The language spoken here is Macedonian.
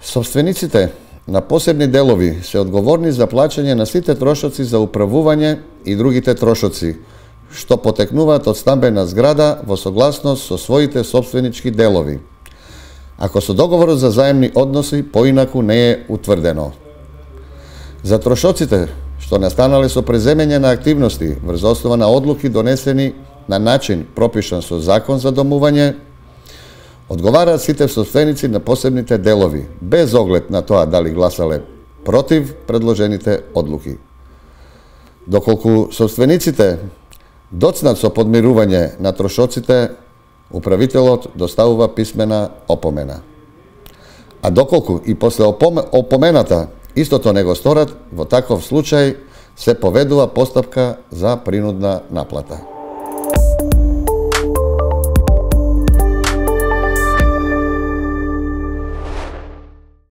Собствениците на посебни делови се одговорни за плаќање на сите трошоци за управување и другите трошоци, што потекнуваат од стамбена зграда во согласност со своите собственички делови, ако со договорот за заемни односи поинаку не е утврдено. За трошоците што настанале со преземење на активности врз основа на одлуки донесени на начин пропишан со закон за домување, одговараат сите собственици на посебните делови, без оглед на тоа дали гласале против предложените одлуки. Доколку собствениците доцнат со подмирување на трошоците, управителот доставува писмена опомена. А доколку и после опомената истото не го сторат, во таков случај се поведува постапка за принудна наплата.